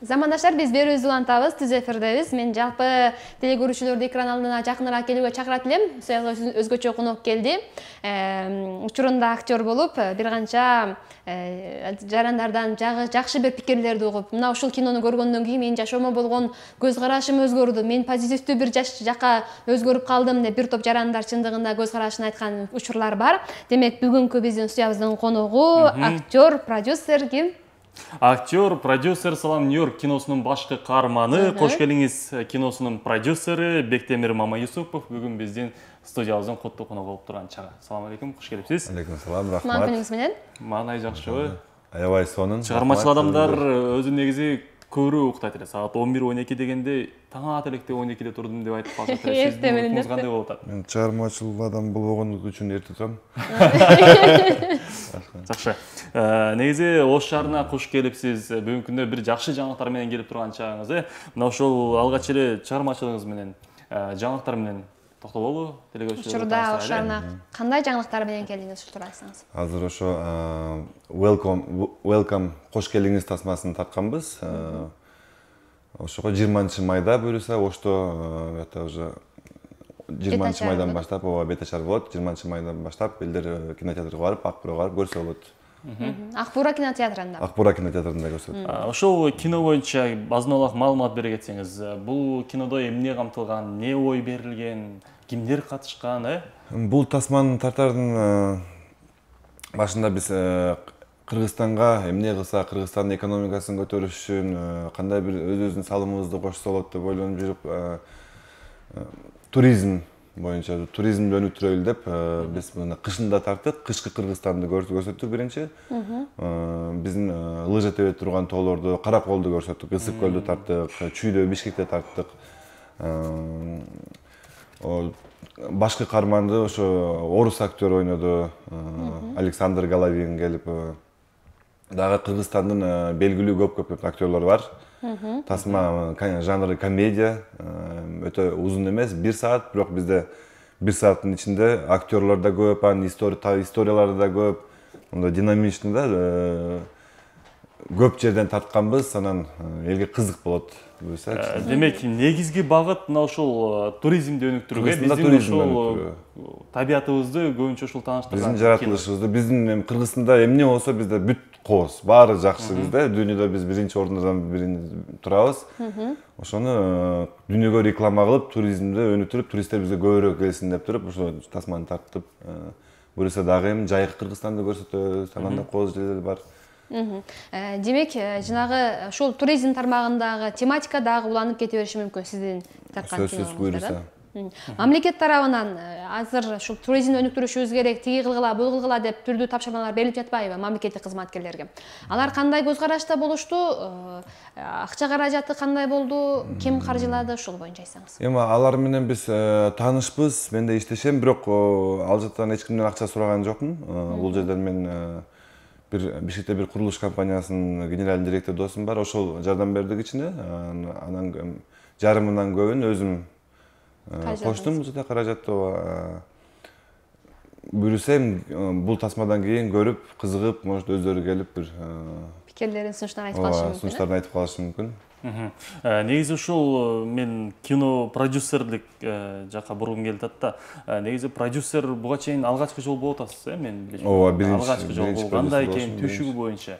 Замандаштар, биз берүүбүздү улантабыз, түз эфирдебиз. Мен жалпы телекөрүүчүлөрдү экран алдына жакыныраак келүүгө чакырат элем. Өзгөчө конок келди. Учурунда актер болуп, бир канча жарандардан жакшы бир пикирлерди угуп, мына ушул кинону көргөндөн кийин менин жашоомо болгон көз карашым өзгөрдү. Мен позитивдүү бир жакка өзгөрүп калдым деп бир топ жарандар чындыгында көз карашын айткан учурлар бар. Демек, бүгүнкү биздин студиябыздын коногу актер, продюсер ким? Актер, продюсер Салам Нью-Йорк киносунун башкы каарманы, Кош келиңиз киносунун продюсери Бектемир Мамаюсупов бүгүн биздин студиябыздын коттуу коногу болуп турган чагы. Салам алейкум, кош келипсиз. Алейкум салам, рахмат. Мампиңиз менен? Маанай жакшыбы? Аябай сонун. Чыгармачыл адамдар өзү негизи көрүү уктайт эле. Саат 11-12 дегенде таң ата электе 12де турдум деп айтып калсат эле. Сиздин уктуңуз кандай болуп атат? Мен чыгармачыл адам болбогон үчүн эрте турам. Жакшы. Негизи Ош шаарына куш келипсиз. Бүгүнкү күндө бир жакшы жаңылыктар менен келип турган чагыңыз. Мына ошол алгач эле чыгармачылыгыңыз менен, жаңылыктар менен токтололу. Учурда Ош шаарына кандай жаңылыктар менен келдиңиз, ушул тууралуу айтсаңыз. Азыр ошо Welcome кош келиңиз тасмасын тартканбыз. Ошого 20-майда буюрса Ошто уже 20-майдан баштап бета чар болот. 20-майдан баштап элдер кинотеатрга барып, Акбурга барып көрсө болот. Акбура кинотеатрында. Акбура кинотеатрында көрсөтөт. Ошол кино боюнча азын-аулак маалымат бере кетсеңиз, бул кинодо эмне камтылган, эмне ой берилген, кимдер катышкан, Бул тасманы тартардын башында биз Кыргызстанга эмне кылсак, Кыргызстандын экономикасын көтөрүш үчүн кандай бир өзүбүздүн салымыбызды кошсо болот деп ойлонуп жүрүп, туризм боюнча туризмди өнүктүрөлү деп биз мына кышында тарттык. Кышкы Кыргызстанды көрсөттүк биринчи. Биздин лыжа тебе турган тоолорду, Караколду көрсөттүк, Ысык көлдү тарттык, Чүйдө, Бишкекте тарттык. Башкы каарманды ошо орус актер ойноду, Александр Головин келип. Дагы Кыргызстандын белгилүү көп актерлор бар. Тасма жанры комедия, өтө узун эмес, 1 саат, бирок бизде 1 сааттын ичинде актерлор да көп, анын историялары да көп, мындай динамичный да, көп жерден тартканбыз, анан элге кызык болот. Демек, негизги багыт мына ушул туризмди өнүктүрүүгө, биздин ушул табиятыбызды көбүнчө ушул тааныштырган. Биздин жаратылышыбызды, биздин Кыргызстанда эмне болсо бизде бүт кооз, баары жакшы бизде. Дүйнөдө биз биринчи орундан турабыз. Ошону дүйнөгө реклама кылып, туризмди өнүктүрүп, туристтер бизге көбүрөөк келсин деп туруп, ошо тасманы тарттып, буюрса дагы эми жайкы Кыргызстанды көрсөтөбүз, анан да кооз жерлер бар. Демек, жанагы ушул туризм тармагындагы тематика дагы уланып кете бериши мүмкүн сиздин тарткан сөзсүз буюрса. Мамлекет тарабынан азыр ушул туризмди өнүктүрүшүбүз керек, тиги кылгыла, бул кылгыла деп түрдүү тапшырмалар берилип жатпайбы мамлекеттик кызматкерлерге? Алар кандай көз карашта болушту? Акча каражаты кандай болду? Ким каржылады? Ушул боюнча айтсаңыз. Эми алар менен биз таанышпыз, мен да иштешем, бирок ал жактан эч кимден акча сураган жокмун. Бул жерден мен Бишкекте бир курулуш компаниясынын генеральный директор досум бар, ошол жардам берди кичине. Анан жарымынан көбүн өзүм коштум, бул жерде каражатты. Буюрса бул тасмадан кийин көрүп, кызыгып, может өздөрү келип бир пикирлерин, сунуштарын айтып калышы мүмкүн. Сунуштарын айтып калышы мүмкүн. Негизи ушул мен кино продюсерлик жакка бургум келип атат да. Негизи продюсер буга чейин алгачкы жолу болуп атасыз, мен билишим. Ооба, биринчи. Алгачкы жолу кандай экен, түшүгү боюнча.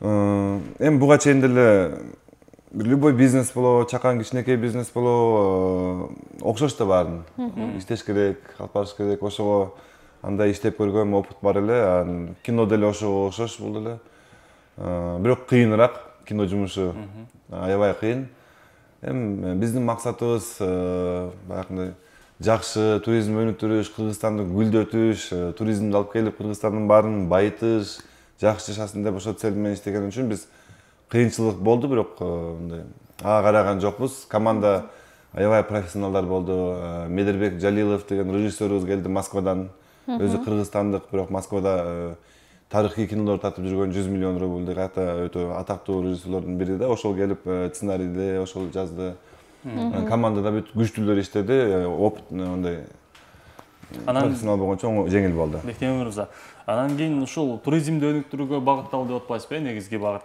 Эми буга чейин деле любой бизнес болобу, чакан кичинекей бизнес болобу, окшош да баарын. Иштеш керек, алып барыш керек. Ошого андай иштеп көргөм, опыт бар эле. Кино деле ошого окшош бул деле. Бирок кыйыныраак. Кино жумушу аябай кыйын. Эми биздин максатыбыз баягындай жакшы туризм өнүктүрүш, Кыргызстанды гүлдөтүш, туризмди алып келип Кыргызстандын баарын байытыш, жакшы жашасын деп ошол цель менен иштеген үчүн биз кыйынчылык болду, бирок мындай ага караган жокпуз. Команда аябай профессионалдар болду. Медербек Жалилов деген режиссерибиз келди Москвадан. Өзү кыргызстандык, бирок Москвада тарыхый кинолор тартып жүргөн 100 миллион рубль өтө атактуу режиссерлордун бири да. Ошол келип сценарийди, ошол жазды. Командада бүт күчтүүлөр иштеди. Опыт мындай профессионал болгон үчүн жеңил болду. Бектемир мырза, анан кийин ушул туризмди өнүктүрүүгө багытталды деп атпайсызбы, негизги багыт.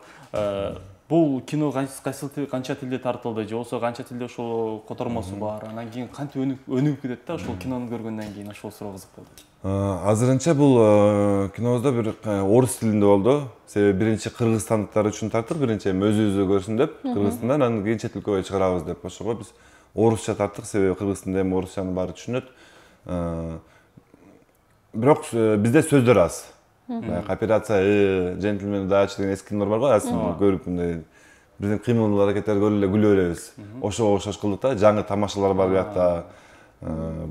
Бул кино канча тилде тартылды же болбосо канча тилде ошол котормосу бар, анан кийин кантип өнүгүп кетет да ошол кинону көргөндөн кийин, ошол суроо кызык болду. Азырынча бул кинобузда бир орус тилинде болду. Себеби биринчи кыргызстандыктар үчүн тарттык, биринчи өзүбүздө көрсүн деп, Кыргызстандан, анан кийин чет өлкөгө чыгарабыз деп. Ошого биз орусча тарттык, себеби Кыргызстанда эми орусчаны баары түшүнөт. Бирок бизде сөздөр аз. Операция Джентльмен Дач деген эски кинолор бар го, асын көрүп мындай биздин кыймыл аракеттерди көрүп эле күлө беребиз. Ошого окшош кылдык да, жаңы тамашалар бар биякта.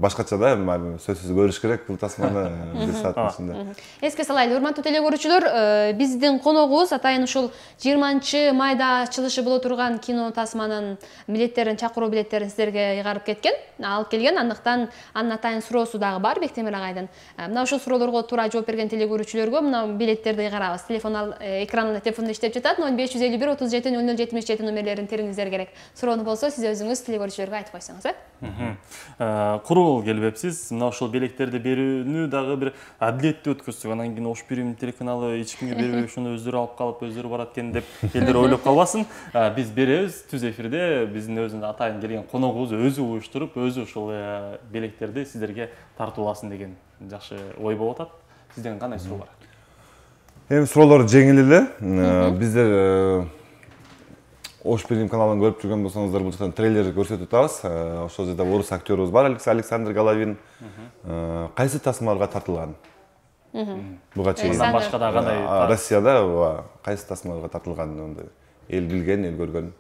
Башкача да, сөзсүз көрүш керек бул тасманы бир сааттын ичинде. Эске салайлы, урматтуу телекөрүүчүлөр, биздин коногубуз атайын ушул 20-майда ачылышы боло турган кино тасманын билеттерин, чакыруу билеттерин сиздерге ыйгарып кеткен, алып келген. Андыктан анын атайын суроосу дагы бар Бектемир агайдан. Мына ушул суроолорго туура жооп берген телекөрүүчүлөргө мына билеттерди ыйгарабыз. Телефон экранында телефондо иштеп жатат. 0551 37 0077 номерлерин териңиздер керек. Суроону болсо сиз өзүңүз телекөрүүчүлөргө айтып койсоңуз, Курул келбепсиз. Мына ошол билектерди берүүнү дагы бир адилеттүү өткөзсөк, анан кийин Ош Бирим телеканалы эч кимге бербей ошону өздөрү алып калып, өздөрү барат экен деп элдер ойлоп калбасын. Биз беребиз түз эфирде, биздин өзүнүн атайын келген коногубуз өзү уюштуруп, өзү ошол билектерди сиздерге тартууласын деген жакшы ой болуп атат. Сизден кандай суроо бар? Эми суроолор жеңил эле. Биздер Ош Бирим каналын көрүп жүргөн болсоңуздар, бул жактан трейлер көрсөтүп атабыз. Ошол жерде орус актёрубуз бар, Александр Головин. Кайсы тасмаларга тартылган? Буга чейин башка да кандай? Россияда кайсы тасмаларга тартылган? Эл билген, эл көргөн.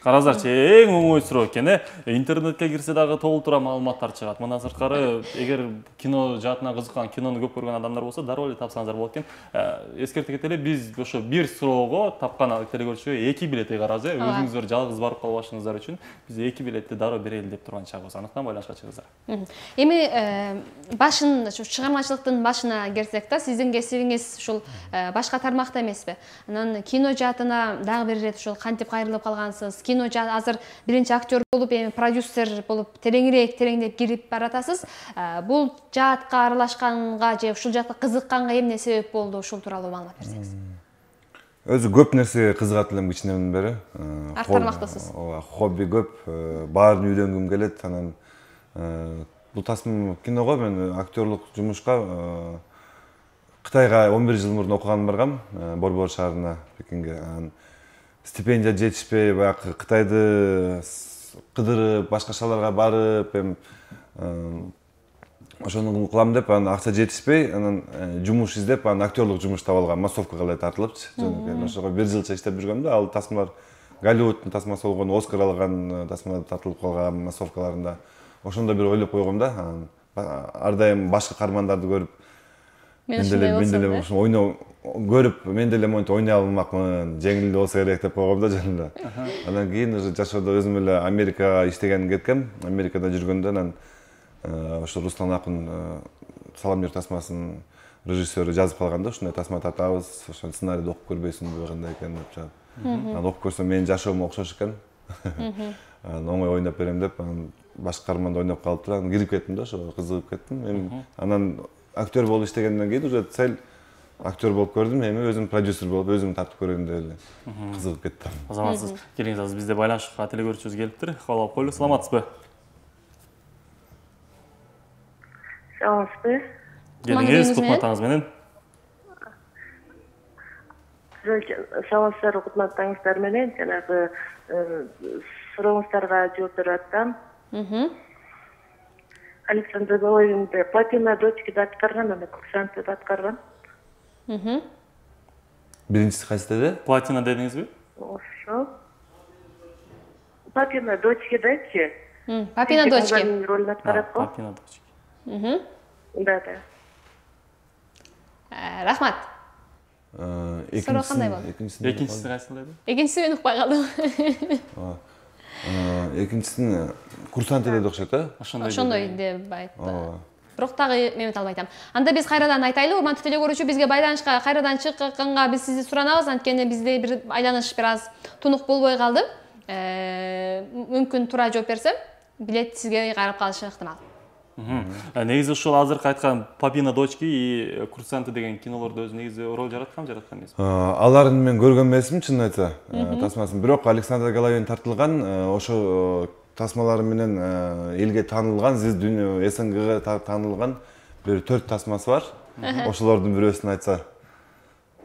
Караңыздарчы, эң оңой суроо экен. Интернетке кирсе дагы толтура маалыматтар чыгат. Мындан сырткары, эгер кино жаатына кызыккан, кинону көп көргөн адамдар болсо, дароо эле тапсаңыздар болот экен. Эскертип кетели, биз ошо бир суроого тапкан телекөрүүчүгө 2 билет ыйгарабыз. Өзүңүздөр жалгыз барып калбашыңыздар үчүн биз 2 билетти дароо берели деп турган чагыбыз. Андыктан байланышка чыгыңыздар. Эми башын, ушу чыгармачылыктын башына келсек да, сиздин кесибиңиз ушул башка тармакта эмеспи? Анан кино жаатына дагы бир ирет ушул кантип кайрылып калгансыз? Кино азыр биринчи актер болуп, эми продюсер болуп тереңдеп кирип баратасыз. Бул жаатка аралашканга же ушул жакка кызыкканга эмне себеп болду? Ушул тууралуу маалымат берсеңиз. Өзү көп нерсеге кызыгат элем кичинемден бери. Ар тармактасыз. Хобби көп, баарын үйрөнгүм келет. Анан бул тасма киного мен актерлук жумушка Кытайга 11 жыл мурун окуган баргам, Борбор шаарына, Пекинге. Стипендия жетишпей, баягы Кытайды кыдырып, башка шаарларга барып, ошону кылам деп, анан акча жетишпей, анан жумуш издеп, анан актерлук жумуш таап алгам, массовкага эле тартылыпчы. Ошого 1 жылча иштеп жүргөм да, ал тасмалар Голливудтун тасмасы болгон, Оскар алган тасмалар тартылып калган массовкаларында. Ошондо бир ойлоп койгом да, ар дайым башка каармандарды көрүп, мен деле ошо ойноо көрүп, мен деле монтип ойной алмакмын, жеңил болсо керек деп койгом да жанымда. Андан кийин уже жашоодо өзүм эле Америкага иштеген кеткем. Америкада жүргөндө анан ошо Руслан Акын Салам жер тасмасынын режиссеру жазып калганда, ушундай тасма тартабыз, ошо сценарийди окуп көрбөйсүңбү, кандай экен деп чыгып. Анан окуп көрсөм менин жашоомо окшош экен. Анан оңой ойноп берем деп, анан башка каарманда ойноп калыптыр, анан кирип кеттим да, ошого кызыгып кеттим. Анан актер болуп иштегенден кийин уже цель актер болуп көрдүм, эми өзүм продюсер болуп, өзүм тартып көрөйүн деп эле кызыгып кеттим. Азаматсыз, келиңиз азыр бизде байланышка телекөрүүчүбүз келиптир. Кабыл алып коелу. Саламатсызбы? Саламатсызбы? Келиңиз кутматтаңыз менен. Саламатсыздар, кутматтаңыздар менен. Жанагы сурооңуздарга жооп берип атсам. Александр Головинди Платина дочкиде аткарган, аны курсантты аткарган. Биринчиси кайсы деди? Платина дедиңизби? Ошо. Платина дочкидечи. Папина дочки. Ролун аткарат го. Платина дочки. Да. Рахмат. Суроо кандай болду? Экинчиси кайсы деди? Экинчиси мен укпай калдым. Экинчисин курсант деди окшойт, да? Ошондой деп айтты. Бирок дагы мен албай атам. Анда биз кайрадан айтайлы, урматтуу телекөрүүчү, бизге байланышка кайрадан чыкканга биз сизди суранабыз, анткени бизде бир айланыш бир аз тунук болбой калды. Мүмкүн туура жооп берсем, билет сизге ыйгарып калышы ыктымал. Негизи ушул азыркы айткан «Папина дочки» и «Курсанты» деген кинолордо өзү негизи роль жараткан эмес. Аларын мен көргөн эмесмин, чынын айтса, тасмасын. Бирок Александр Головин тартылган ошо тасмалары менен элге таанылган, СНГга таанылган бир 4 тасмасы бар. Ошолордун бирөөсүн айтса.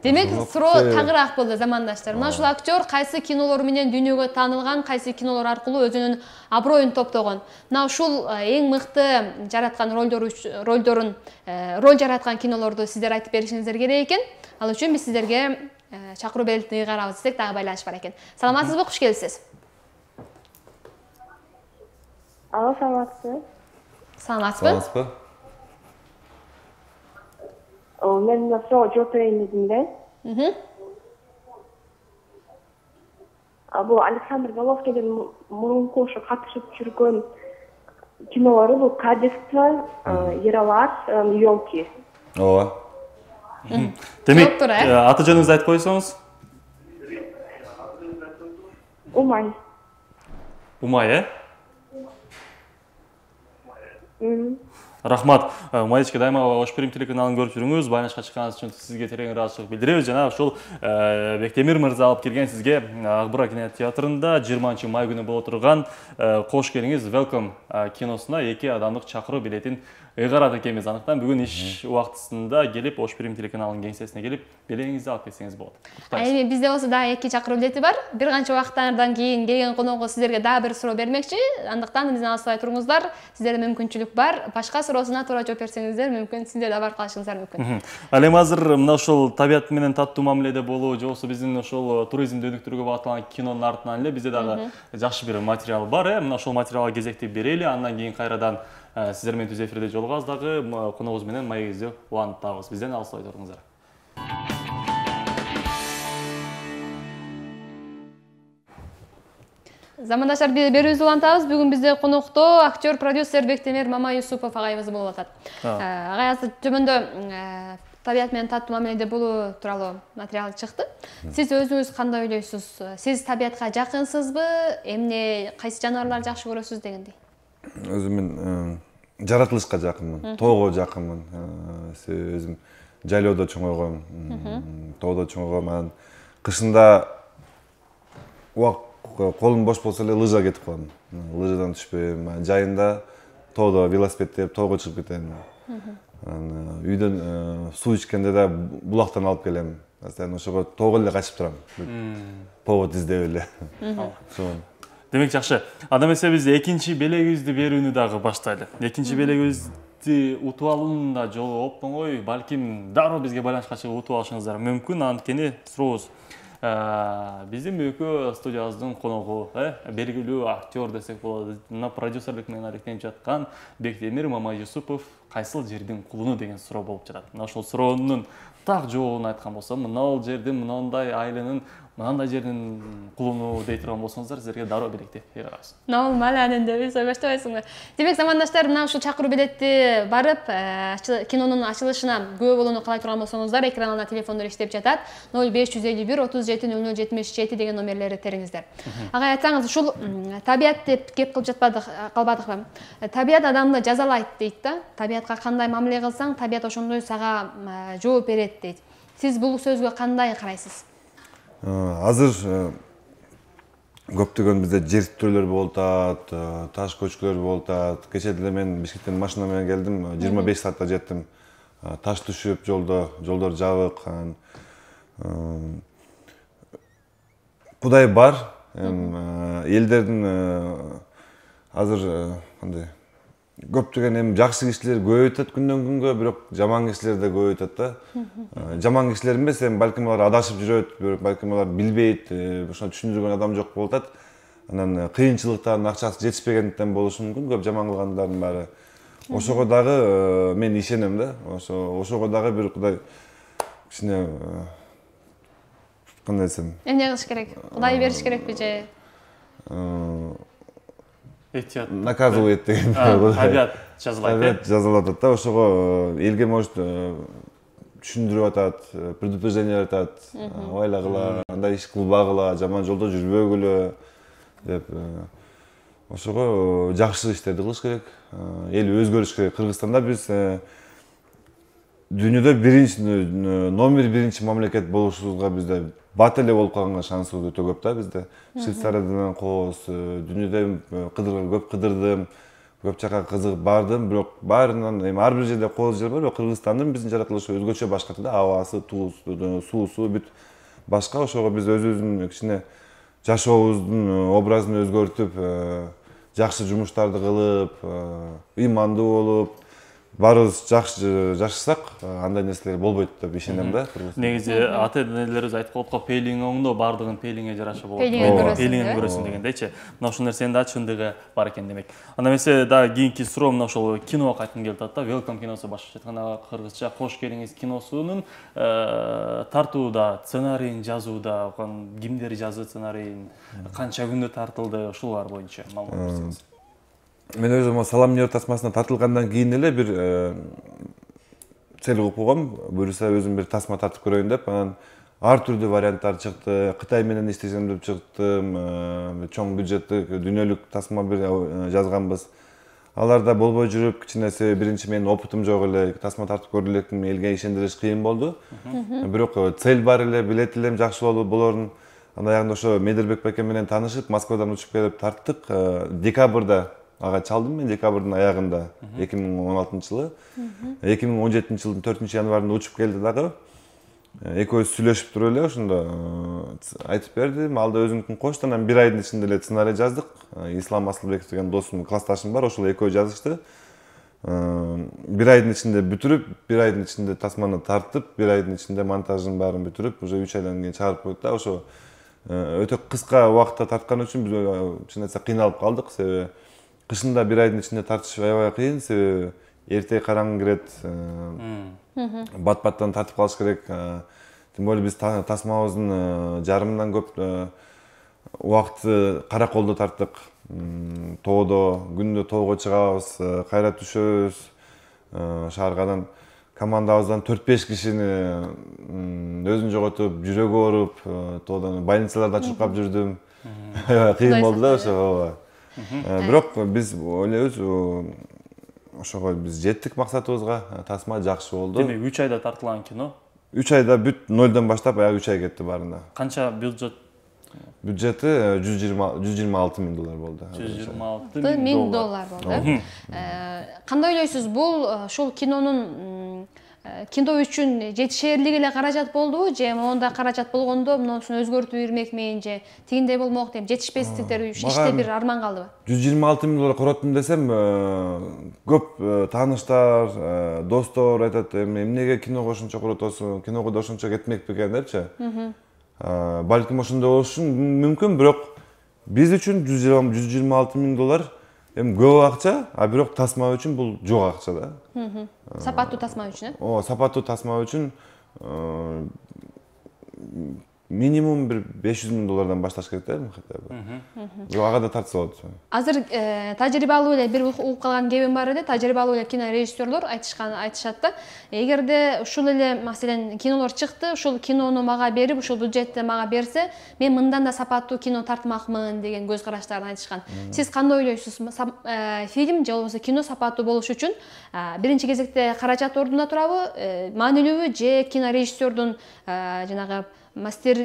Демек, суроо тагыраак болду, замандаштар. Мына ушул актер кайсы кинолор менен дүйнөгө таанылган, кайсы кинолор аркылуу өзүнүн аброюн топтогон. Мына ушул эң мыкты жараткан роль жараткан кинолорду сиздер айтып беришиңиздер керек экен. Ал үчүн биз сиздерге чакыруу белгисин ыйгарабыз десек дагы байланыш бар экен. Саламатсызбы, куш келипсиз? Алло, саламатсызбы? Саламатсызбы? Мен мына суроо жооп берейин дедим эле. Бул Александр Головкиндин мурунку ошо катышып жүргөн кинолору бул «Кадетство», «Ералаш», «Ёлки». Ооба. Демек, аты жөнүңүздү айтып койсоңуз? Умай. Умай, Рахмат. Умайчка, дайыма Ош Прим телеканалын көрүп жүрүңүз. Байланышка чыкканыңыз үчүн сизге терең ыраазычылык билдиребиз. Жана ушул Бектемир мырза алып келген сизге Акбура кинотеатрында 20 май күнү боло турган «Кош келиңиз, Welcome» киносуна 2 адамдык чакыруу билетин ыйгарат экенбиз. Андыктан бүгүн иш убактысында келип Ош Прим телеканалынын кеңсесине келип билетиңизди алып келсеңиз болот. Эми бизде болсо дагы 2 чакыруу билети бар. Бир канча убакыттардан кийин келген коногу сиздерге дагы бир суроо бермекчи. Андыктан бизден алыспай туруңуздар. Сиздерде мүмкүнчүлүк бар. Башка суроосуна туура жооп берсеңиздер мүмкүн, сиздер да барып калышыңыздар мүмкүн. Ал эми азыр мына ушул табият менен таттуу мамиледе болуу, же болбосо биздин ушул туризмди өнүктүрүүгө багытталган кинонун артынан эле бизде дагы жакшы бир материал бар. Мына ушул материалга кезекти берели, андан кийин кайрадан сиздер менен түз эфирде жолугабыз дагы коногубуз менен маегибизди улантабыз. Бизден алыспай туруңуздар. Замандаштар, берүүбүздү улантабыз. Бүгүн бизде конокто актер, продюсер Бектемир Мамаюсупов агайыбыз болуп атат. Агай азыр төмөндө табият менен таттуу мамиледе болуу тууралуу материал чыкты. Сиз өзүңүз кандай ойлойсуз? Сиз табиятка жакынсызбы? Эмне, кайсы жаныбарларды жакшы көрөсүз дегендей? Өзүм мен жаратылышка жакынмын, тоого жакынмын. Өзүм жайлоодо чоңойгом, тоодо чоңойгом. Анан кышында колум бош болсо эле лыжа кетип калам. Лыжадан түшпөйм. Жайында тоодо велосипед тоого чыгып кетем. Үйдөн суу ичкенде да булактан алып келем. Ошого тоого эле качып турам. Повод издеп эле. Демек жакшы. Анда эмесе биз экинчи белегибизди берүүнү дагы баштайлы. Экинчи белегибизди утуп алуунун да жолу оп-оңой, балким дароо бизге байланышка чыгып утуп алышыңыздар мүмкүн. Анткени сурообуз. Биздин бүгүнкү студиябыздын коногу, белгилүү актер десек болот, продюсерлик менен алектенип жаткан Бектемир Мамаюсупов кайсыл жердин кулуну деген суроо болуп жатат. Мына ошол суроонун так жообун айткан болсом, мынау жердин, мынандай айланын, мынандай жердин кулуну дей турган болсоңуздар, силерге дароо билекти ыйгарабыз. Нормал, анында биз ойбаштабайсыңбы? Демек, замандаштар, мына ушул чакыруу билетти барып, кинонун ачылышына күбө болууну каалай турган болсоңуздар, экранында телефондор иштеп жатат. 0551 37 0077 деген номерлери териңиздер. Агай, айтсаңыз, ушул табият деп кеп кылып калбадыкпы? Табият адамды жазалайт дейт да. Табиятка кандай мамиле кылсаң, табият ошондой сага жооп берет дейт. Сиз бул сөзгө кандай карайсыз? Азыр көптөгөн бизде жер титирөөлөр болуп атат, таш көчкүлөр болуп атат. Кечээ деле мен Бишкектен машина менен келдим, 25 саатта жеттим. Таш түшүп жолдор жабык. Кудай бар. Элдердин азыр кандай көптөгөн жакшы кишилер көбөйүп атат күндөн күнгө, бирок жаман кишилер да көбөйүп атат да. Жаман кишилер эмес, балким алар адашып жүрөт, балким алар билбейт, ошону түшүндүргөн адам жок болуп атат. Анан кыйынчылыктан, акчасы жетишпегендиктен болушу мүмкүн, көп жаман кылгандардын баары. Ошого дагы мен ишенем да. Ошого дагы бир Кудай кичине кандай десем, эмне кылыш керек? Кудай бериш керекпи же? Наказывает деген. Табият жазалайт. Табият жазалап атат да. Ошого элге может түшүндүрүп атат, предупреждение атат. Ойлагыла, андай иш кылбагыла, жаман жолдо жүрбөгүлө деп. ошого жакшы иштерди кылыш керек. Эл өзгөрүш керек. Кыргызстанда биз дүйнөдө номер биринчи мамлекет болушубузга бизде бат эле болуп калганга шансыбыз өтө көп да бизде. Швейцариядан кооз, дүйнөдө көп кыдырдым, көп жака кызыгып бардым, бирок баарынан эми ар бир жерде кооз жер бар, бирок Кыргызстандын биздин жаратылышы өзгөчө башка да, абасы, суусу бүт башка. Ошого биз өзүбүздүн кичине жашообуздун образын өзгөртүп, жакшы жумуштарды кылып, ыймандуу болуп, баарыбыз жакшы жашасак, андай нерселер болбойт деп ишенем да. Негизи ата-энелерибиз айтып коет го, пейлиң оңдо, бардыгын пейлиңе жараша болот. Пейлиңен көрөсүң дегендейчи. Мына ушул нерсенин да чындыгы бар экен демек. Анда эмесе дагы кийинки суроо мына ошол киного кайткым келип атат да. Welcome киносу башкача айтканда кыргызча кош келиңиз киносунун тартууда, сценарийин жазууда, кимдер жазды сценарийин, канча күндө тартылды, ушулар боюнча маалымат берсеңиз. Мен өзүм Салам Нью-Йорк тасмасына тартылгандан кийин эле бир цел коюп койгом. Буюрса өзүм бир тасма тартып көрөйүн деп, анан ар түрдүү варианттар чыкты. Кытай менен иштесем деп чыктым. Чоң бюджеттик дүйнөлүк тасма бир жазганбыз. Аларда болбой жүрүп, кичине биринчи менин опытым жок эле, тасма тартып көрө элекмин, элге ишендириш кыйын болду. Бирок цель бар эле, билет элем жакшы болорун. Андан аягында ошо Медербек байке менен таанышып, Москвадан учуп келип тарттык. Декабрда ага чалдым мен, декабрдын аягында 2016-жылы. 2017-жылдын 4-январында учуп келди дагы. Экөөбүз сүйлөшүп туруп эле ошондо айтып бердим. Алда өзүнүкүн кошту, анан бир айдын ичинде эле сценарий жаздык. Ислам Асылбеков деген досум, классташым бар, ошол экөө жазышты. Бир айдын ичинде бүтүрүп, бир айдын ичинде тасманы тартып, бир айдын ичинде монтажын баарын бүтүрүп, уже 3 айдан кийин чыгарып койдук да. Ошо өтө кыска убакытта тарткан үчүн биз чын айтсак кыйналып калдык. Себеби кышында бир айдын ичинде тартыш аябай кыйын, себеби эрте караң кирет, бат-баттан тартып калыш керек. Тем более биз тасмабыздын жарымынан көп убакытты кара колдо тарттык. Тоодо, күндө тоого чыгабыз, кайра түшөбүз. Шааргадан командабыздан 4-5 кишини өзүн жоготуп, жүрөгү ооруп, тоодон больницаларда чуркап жүрдүм. Кыйын болду да ошо. Бирок биз ойлойбуз, ошого биз жеттик максатыбызга, тасма жакшы болду. Демек 3 айда тартылган кино? 3 айда бүт нолдон баштап аяк 3 ай кетти баарында. Канча бюджет? Бюджети $126 миң болду. $126 миң болду. Кандай ойлойсуз, бул ушул кинонун кино үчүн жетишерлик эле каражат болдубу, же монда каражат болгондо мунусун өзгөртүп ийирмекмин, же тигиндей болмок деп жетишпестиктер иште бир арман калдыбы? $126 миң короттум десем, көп тааныштар, достор айтат, эмнеге киного ошончо коротосуң, киного да ошончо кетмек бекен депчи. Балким ошондой болушу мүмкүн, бирок биз үчүн $126 миң эми көп акча, а бирок тасма үчүн бул жок акча да. Сапаттуу тасма үчүн, сапаттуу тасма үчүн минимум бир $500 миң башташ керек да, хотя бы. Бирок ага да тартса болот. Азыр тажрыйбалуу эле бир угуп калган кебим бар эле, тажрыйбалуу эле кинорежиссерлор айтышат да. Эгерде ушул эле маселен кинолор чыкты, ушул кинону мага берип, ушул бюджетти мага берсе, мен мындан да сапаттуу кино тартмакмын деген көз караштарын айтышкан. Сиз кандай ойлойсуз? Фильм же болбосо кино сапаттуу болуш үчүн биринчи кезекте каражат ордунда турабы, маанилүүбү, же кинорежиссердун жанагы мастер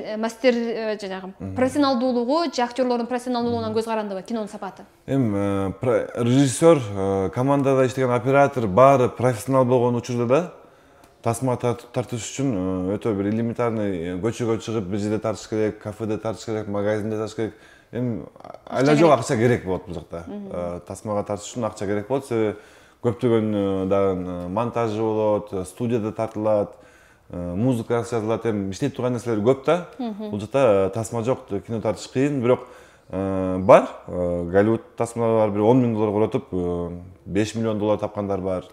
жанагы профессионалдуулугу, же актерлордун профессионалдуулугунан көз карандыбы кинонун сапаты? Эми режиссер, командада иштеген оператор баары профессионал болгон учурда да тасма тартыш үчүн өтө бир элементарный көчөгө чыгып бир жерде тартыш керек, кафеде тартыш керек, магазинде тартыш керек. Эми айла жок акча керек болот бул жакта. Тасмага тартыш үчүн акча керек болот, себеби көптөгөн дагы монтажы болот, студияда тартылат, музыка жазылат, эми иштеп турган нерселер көп да. Бул жакта тасма жок, кино тартыш кыйын, бирок бар. Голливуд тасмалар бир $10 миң коротуп, $5 миллион тапкандар бар.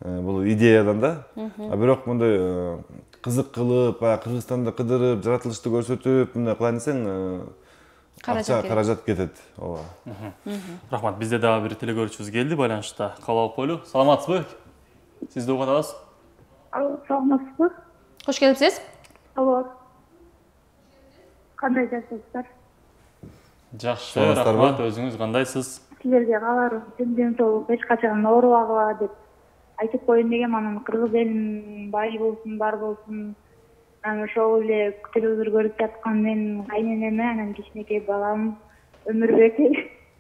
Бул идеядан да. Бирок мындай кызык кылып, Кыргызстанда кыдырып, жаратылышты көрсөтүп, мындай кылайын десең, каражат кетет. Ооба. Рахмат. Бизде дагы бир телекөрүүчүбүз келди байланышта. Кабыл алып коелу. Саламатсызбы? Сизди угуп атабыз. Саламатсызбы? Кош келипсиз. Алло. Кандай жашайсыздар? Жакшы, рахмат. Өзүңүз кандайсыз? силерге кааларым ден соолук эч качан оорубагыла деп айтып коеюн дегем. Анан кыргыз элинин бай болсун, бар болсун, анан ошол эле телевизор көрүп жаткан менин кайненеме, анан кичинекей балам Өмүрбек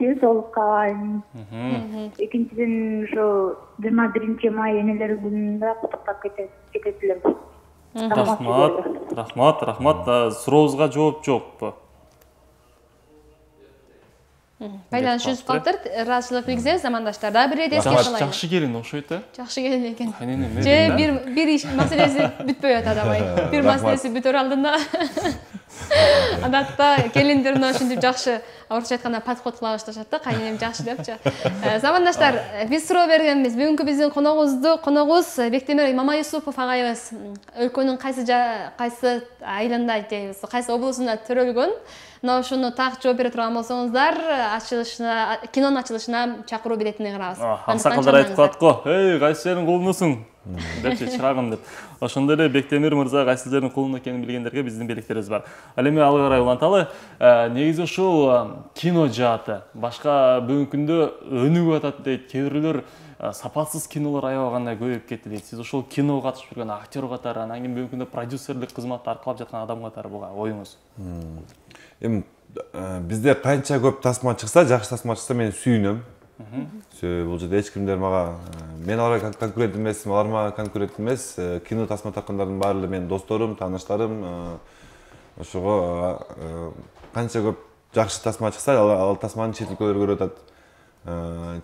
ден соолук каалайм. Экинчиден ошо 21-май энелер күнүндө куттуктап кетет элем. Рахмат. Сурообузга жооп жокпу? Байланыш үзүп калыптыр. Ыраазычылык билгизебиз, замандаштар. Дагы бир рет эске салайын. Жакшы келин окшойт э? Жакшы келин экен. Кайненеме. Же бир иш маселеси бүтпөй атат абай. Бир маселеси бүтөр алдында. Адатта келиндер мына ушинтип жакшы, орусча айтканда подход кыла башташат да, кайненем жакшы депчи. Замандаштар, биз суроо бергенбиз. Бүгүнкү биздин коногубуз Бектемир Мамаюсупов агайыбыз. Өлкөнүн кайсы айылында дейбиз, кайсы облусунда төрөлгөн. Мына ушуну так жооп бере турган болсоңуздар, кинонун ачылышына чакыруу билетине кырабыз. Аксакалдар айтып калат го, "Эй, кайсы жердин кулунусуң?" депчи, чырагым деп. Ошондой эле Бектемир мырза кайсы жердин кулуну экенин билгендерге биздин белектерибиз бар. Ал эми алга карай уланталы. Негизи ушул кино жааты башка бүгүнкү күндө өнүгүп атат дейт. Кээ бирлөр сапатсыз кинолор аябагандай көбөйүп кетти дейт. Сиз ошол киного катышып жүргөн актер катары, анан кийин бүгүнкү күндө продюсерлик кызматты аркалап жаткан адам катары буга оюңуз? Эми бизде канча көп тасма чыкса, жакшы тасма чыкса мен сүйүнөм. Бул жерде эч кимдер мага мен аларга конкурент эмесмин, алар мага конкурент эмес. Кино тасма таккандардын баары эле менин досторум, тааныштарым. Ошого канча көп жакшы тасма чыкса, ал тасманы чет өлкөлөр көрүп атат.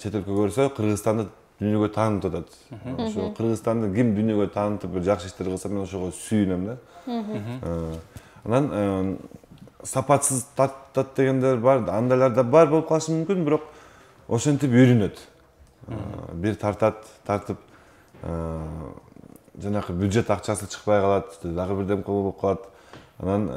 Чет өлкө көрсө, Кыргызстанды дүйнөгө таанытып атат. Ошо Кыргызстанды ким дүйнөгө таанытып бир жакшы иштер кылса, мен ошого сүйүнөм да. Анан сапатсыз тартат дегендер бар, андайлар да бар болуп калышы мүмкүн, бирок ошентип үйрөнөт. Бир тартып жанагы бюджет акчасы чыкпай калат, дагы бирдем болуп калат. Анан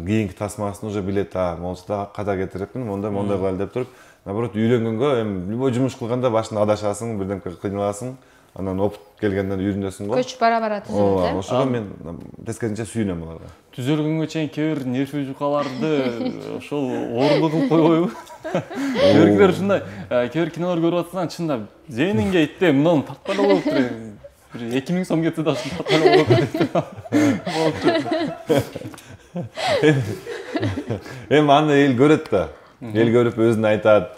кийинки тасмасын уже билет, болсо ката кетирипмин, мондай кылайлы деп туруп, наоборот үйрөнгөнгө, эми любой жумуш кылганда башында адашасың, бирдемке кыйналасың, анан опыт келгенден үйрөнөсүң го. Көч бара түзүлөт, э? Ошого мен тескерисинче сүйүнөм аларга. Түзөлгөнгө чейин кээ бир нервий жукаларды ошол орунду кылып койбойбу? Кээ бирлер ушундай, кээ бир кинолор көрүп атсаң, чындап зейниңге итте, мынаны тарткан болуптур. Бир 2000 сом кетсе да ушуну тарткан болуптур. Эми аны эл көрөт да. Эл көрүп өзүн айтат.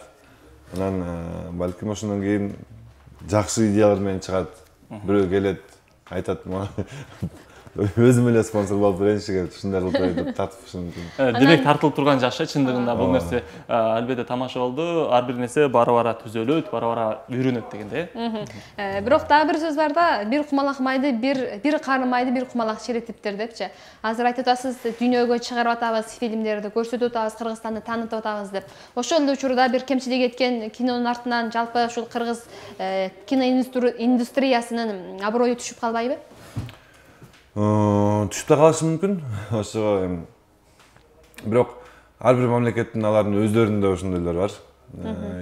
Анан балким ошондон кийин жакшы идеялар менен чыгат. Бирөө келет, айтат мага. Өзүм эле спонсор болуп берейинчи, ушундай кылып айтып тартып ушинтип. Демек тартылып турган жакшы чындыгында бул нерсе албетте тамаша болду. Ар бир нерсе бара-бара түзөлөт, бара-бара үйрөнөт дегенде. Бирок дагы бир сөз бар да, бир кумалак майды, бир кары майды бир кумалак чиретиптир депчи. Азыр айтып атасыз, дүйнөгө чыгарып атабыз, фильмдерди көрсөтүп атабыз, Кыргызстанды таанытып атабыз деп. Ошол эле учурда бир кемчилик эткен кинонун артынан жалпы ушул кыргыз кино индустриясынын аброю түшүп калбайбы? Түшүп да калышы мүмкүн. Ошого эми бирок ар бир мамлекеттин алардын өздөрүндө ошондойлор бар.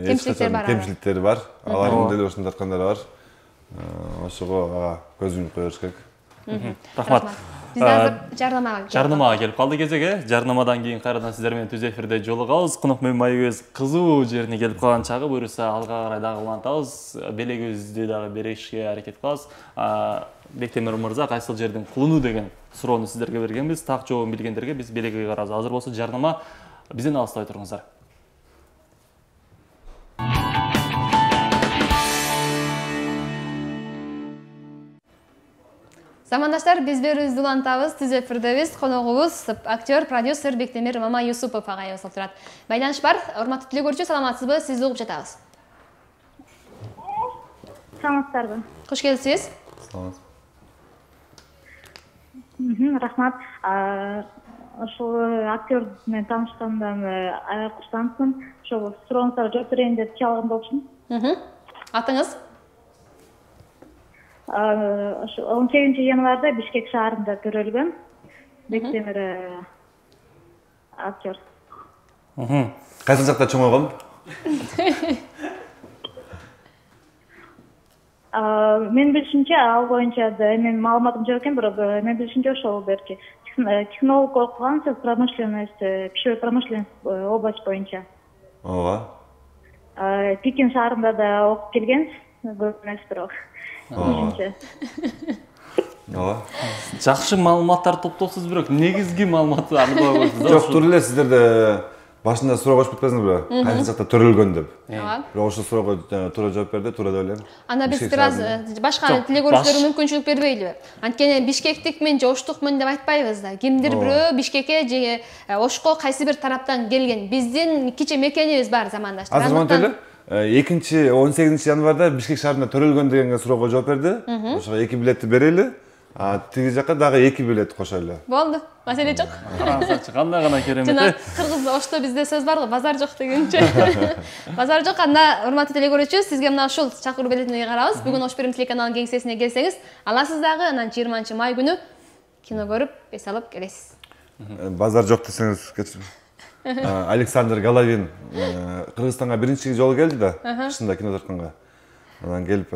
Кемчиликтери бар. Алардын деле ошондой аткандары бар. Ошого көз юмуп коюш керек. Рахмат. Биз азыр жарнамага келип калды кезеге. Жарнамадан кийин кайрадан сиздер менен түз эфирде жолугабыз. Конок менен майыбыз кызуу жерине келип калган чагы, буюрса алга карай дагы улантабыз. Белегибизди дагы беришке аракет кылабыз. Бектемир мырза кайсыл жердин кулуну деген суроону сиздерге бергенбиз. Так жообун билгендерге биз белегиге карабыз. Азыр болсо жарнама, бизден алыстабай туруңуздар. Замандаштар, биз берүүбүздү улантабыз, түз эфирдебиз. Коногубуз актер, продюсер Бектемир Мамаюсупов агайыбыз болуп турат. Байланыш бар. Урматтуу теле көрүүчү, саламатсызбы? Сизди угуп жатабыз. Саламатсыздарбы? Кош келипсиз. Саламатсыз. Рахмат. Ошол актер менен таанышкандан аябай курсантмын. Ошол сурооңуздарга жооп берейин деп чалган болчумун. Атыңыз? 18 январда Бишкек шаарында төрөлгөн Бектемир актер. Кайсы жакта чоңойгон? Мен билишимче, ал боюнча менин маалыматым жок экен, бирок мен билишимче ошол берчи технолог окугансыз, промышленность, пищевой промышленность область боюнча. Ооба. Пекин шаарында да окуп келгенбиз, көп эмес бирок. Ооба. Жакшы маалыматтар топтосуз, бирок негизги маалыматты аныктап койсоңуз. Жок, туура эле сиздерде башында суроо коюп кетпесиңизби? Кайсы жакта төрөлгөн деп. Ооба. Бирок ошол суроого туура жооп берди, туура деп ойлойм. Анда биз бир аз башка тиле көрүүчүлөргө мүмкүнчүлүк бербейлиби? Анткени бишкектикмин же оштукмун деп айтпайбыз да. Кимдир бирөө Бишкекке же Ошко кайсы бир тараптан келген. Биздин кичи мекенибиз бар замандаштар. Азыр монтип эле 18 январда Бишкек шаарында төрөлгөн деген суроого жооп берди. Ошого 2 билетти берели. Тиги жака дагы 2 билет кошолу. Болду. Маселе жок. Караңыздарчы, кандай гана керемет. Жана кыргыз Ошто бизде сөз бар го, базар жок дегенче. Базар жок. Анда урматтуу теле көрүүчү, сизге мына ушул чакыруу билетине карабыз. Бүгүн Ош Перим телеканалынын кеңсесине келсеңиз, аласыз дагы. Анан 20-май күнү кино көрүп, эс алып келесиз. Базар жок десеңиз кетчү. Александр Головин Кыргызстанга биринчи жолу келди да, кышында кино тартканга. Анан келип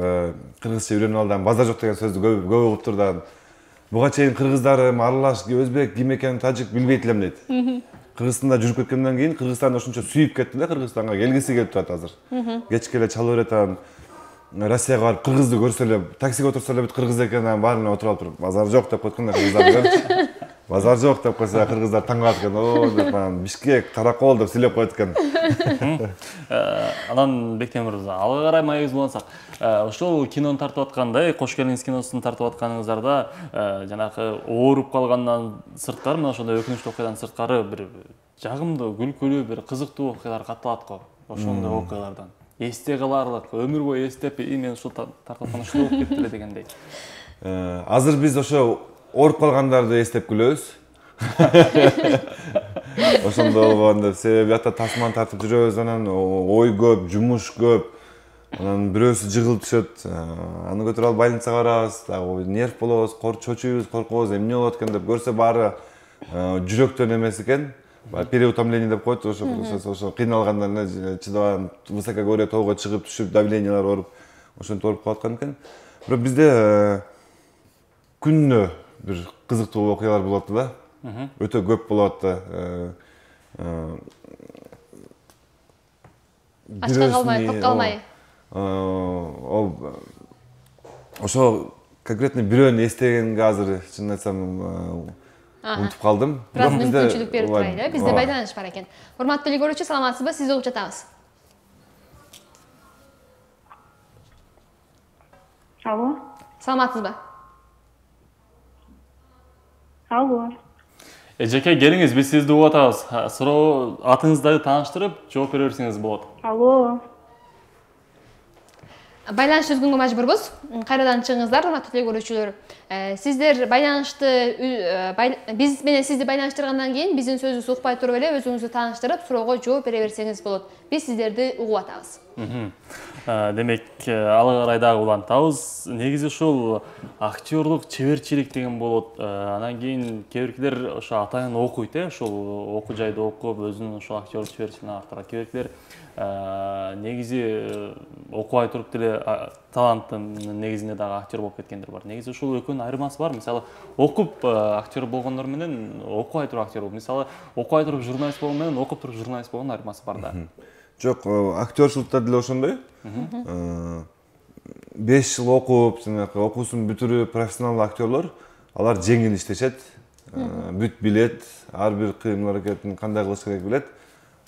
кыргызча үйрөнүп алды. Базар жок деген сөздү көп угуп турду. Буга чейин кыргыздарым, аралаш, өзбек, ким экенин, тажик билбейт элем дейт. Кыргызстанда жүрүп кеткенден кийин Кыргызстанды ошончо сүйүп кетти да, Кыргызстанга келгиси келип турат азыр. Кечке эле чалып берет, анан Россияга барып кыргызды көрсө эле, таксиге отурса эле бүт кыргыз экенин баарына отуруп алып туруп, базар жок деп койткон да кыргыздар. Базар жок деп койсо кыргыздар таң калат экен. О, деп Бишкек, Каракол деп сүйлөп коет экен. Анан Бектемир мырза, алга карай маегибизди улантсак, ошол кинону тартып атканда, Кош келиңиз киносун тартып атканыңыздарда жанагы ооруп калгандан сырткары, мына ошондой өкүнүчтүү окуядан сырткары бир жагымдуу, күлкүлүү, бир кызыктуу окуялар катталат го. Ошондой окуялардан эсте каларлык, өмүр бою эстеп, мен ушул тартып аткан ушул болуп кетти эле дегендей. Азыр биз ошо ооруп калгандарды эстеп күлөбүз. Ошондо болгон деп, себеби ата тасман тартып жүрөбүз, анан ой көп, жумуш көп. Анан бирөөсү жыгылып түшөт, аны көтөрүп алып больницага барабыз, дагы нерв болобуз, чочуйбуз, коркобуз, эмне болот экен деп көрсө баары жүрөктөн эмес экен. Переутомление деп коет, ошо кыйналгандан эле чыдабай высокогорье тоого чыгып түшүп, давлениялар ооруп, ошентип ооруп калаткан экен. Бирок бизде күнүнө бир кызыктуу окуялар болот да. Өтө көп болот да. Ачка калмай, топ калмай. Ошо конкретно бирөөнү эстегенге азыр чынын айтсам унутуп калдым. Бирок мүмкүнчүлүк берип турайлы, бизде байланыш бар экен. Урматтуу теле көрүүчү, саламатсызбы? Сизди угуп жатабыз. Алло. Саламатсызбы? Алло. Эжеке келиңиз, биз сизди угуп атабыз. Суроо атыңызды тааныштырып, жооп бере берсеңиз болот. Алло. Байланыш үзгөнгө мажбурбуз. Кайрадан чыгыңыздар, урматтуу теле көрүүчүлөр. Сиздер байланышты биз менен сизди байланыштыргандан кийин биздин сөзүбүз укпай туруп эле өзүңүздү тааныштырып, суроого жооп бере берсеңиз болот. Биз сиздерди угуп атабыз. Демек, алга карай дагы улантабыз. Негизи ушул актерлук чеберчилик деген болот. Анан кийин кээ-биркилер ошо атайын окуйт, ошол окуу жайды окуп, өзүнүн ошол актерлук чеберчилигин арттырат. Кээ-биркилер негизи окубай туруп деле таланттын негизинде дагы актер болуп кеткендер бар. Негизи ушул экөөнүн айырмасы бар. Мисалы, окуп актер болгондор менен окубай туруп актер болуп, мисалы, окубай туруп журналист болгон менен окуп туруп журналист болгондун айырмасы бар да. Жок, актерчиликта деле ошондой. 5 жыл окуп, жанагы окуусун бүтүрүп, профессионалдуу актерлор, алар жеңил иштешет, бүт билет, ар бир кыймыл аракетин кандай кылыш керек билет.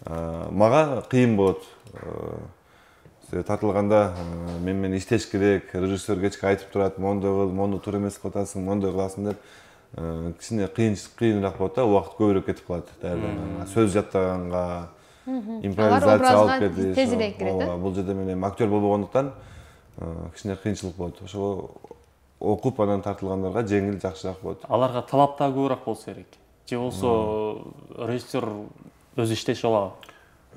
Мага кыйын болот. Тартылганда мен менен иштеш керек, режиссер кечке айтып турат, мондой кыл, мону туура эмес кылып атасың, мондой кыласың деп. Кичине кыйыныраак болот да, убакыт көбүрөөк кетип калат даярданганга, сөз жаттаганга, импровизация алып кетип. Тезирээк кирет. Бул жерде мен эми актер болбогондуктан кичине кыйынчылык болот. Ошого окуп анан тартылгандарга жеңил, жакшыраак болот. Аларга талап да көбүрөөк болсо керек. Же болсо режиссер өзү иштеши алабы?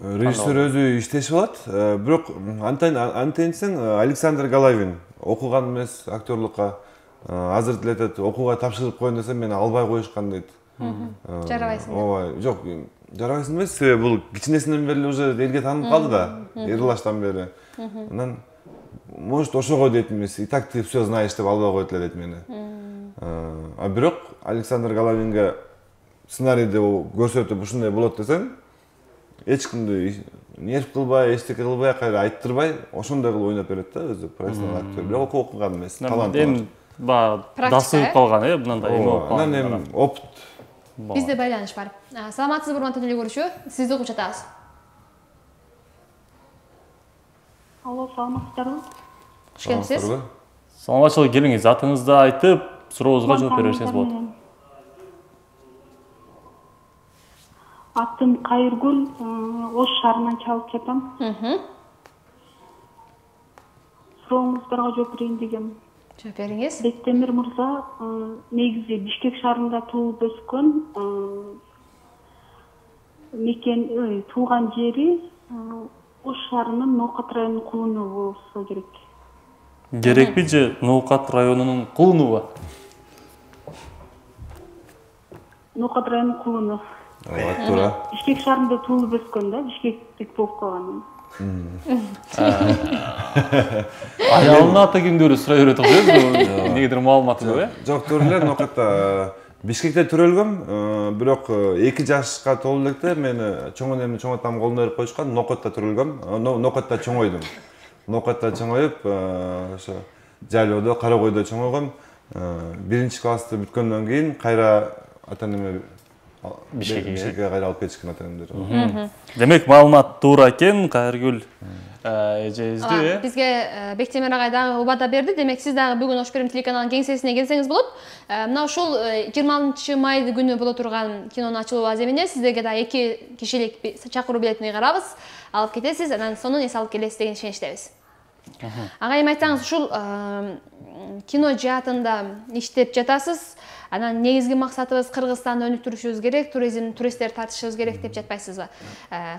Режиссер өзү иштеши алат, бирок антенсең Александр Головин окуган эмес актерлукка. Азыр деле айтат, окууга тапшырып коеюн десем, мени албай коюшкан дейт. Жарабайсың. Ооба, жок, жарабайсың эмес, себеби бул кичинесинен бери уже элге таанып калды да, Эрилаштан бери. Анан может ошого дейт эмес, и так ты все знаешь деп албай коет эле дейт мени. Бирок Александр Головинге сценарийди көрсөтүп ушундай болот десең, эч кимди нерв кылбай, эчтеке кылбай, кайра айттырбай, ошондой кылып ойноп берет да өзү профессионал актер. Бирок окуган эмес, талант бар. Эми дасып калган, мындай эме болуп калган. Анан эми опыт. Бизде байланыш бар. Саламатсызбы, урматтуу теле көрүүчү? Сизди угуп жатабыз. Алло, саламатсыздарбы? Кош келипсиз. Саламатчылык, келиңиз, атыңызды айтып, сурообузга жооп бере берсеңиз болот. Атым Кайыргүл, Ош шаарынан чалып жатам. Сурооңуздарга жооп берейин дегем. Жооп бериңиз. Бектемир мырза негизи Бишкек шаарында туулуп өскөн, туулган жери Ош шаарынын Ноокат районунун Кулуну болсо керек. Керекпи же Ноокат районунун Кулунубу? Ноокат районунун Кулуну. Туура. Бишкек шаарында туулуп өскөн да, бишкектик болуп калган. Аялынын аты кимди сурай берет окшойбуз, негедир маалыматы көп, Жок, туура эле, Ноокатта Бишкекте төрөлгөм, бирок 2 жашка толуп электе мени чоң энемдин чоң атам колуна берип коюшкан, Ноокатта төрөлгөм, Ноокатта чоңойдум. Ноокатта чоңоюп, ошо Жайлоодо, Каракойдо чоңойгом. 1-классты бүткөндөн кийин кайра ата-энеме Бишкекке кайра алып кетишкен ата-энемдер. Демек, маалымат туура экен, Кайыргүл эжебизди. Бизге Бектемир агай дагы убада берди. Демек, сиз дагы бүгүн Ош Перим телеканалынын кеңсесине келсеңиз болот. Мына ушул 26 май күнү боло турган кинонун ачылуу аземине сиздерге да 2 кишилик чакыруу билетин ыйгарабыз. Алып кетесиз, анан сонун эс алып келесиз деген ишеничтебиз. Агайым, айтсаңыз, ушул кино жаатында иштеп жатасыз. Анан негизги максатыбыз Кыргызстанды өнүктүрүшүбүз керек, туристтер тартышыбыз керек деп жатпайсызбы?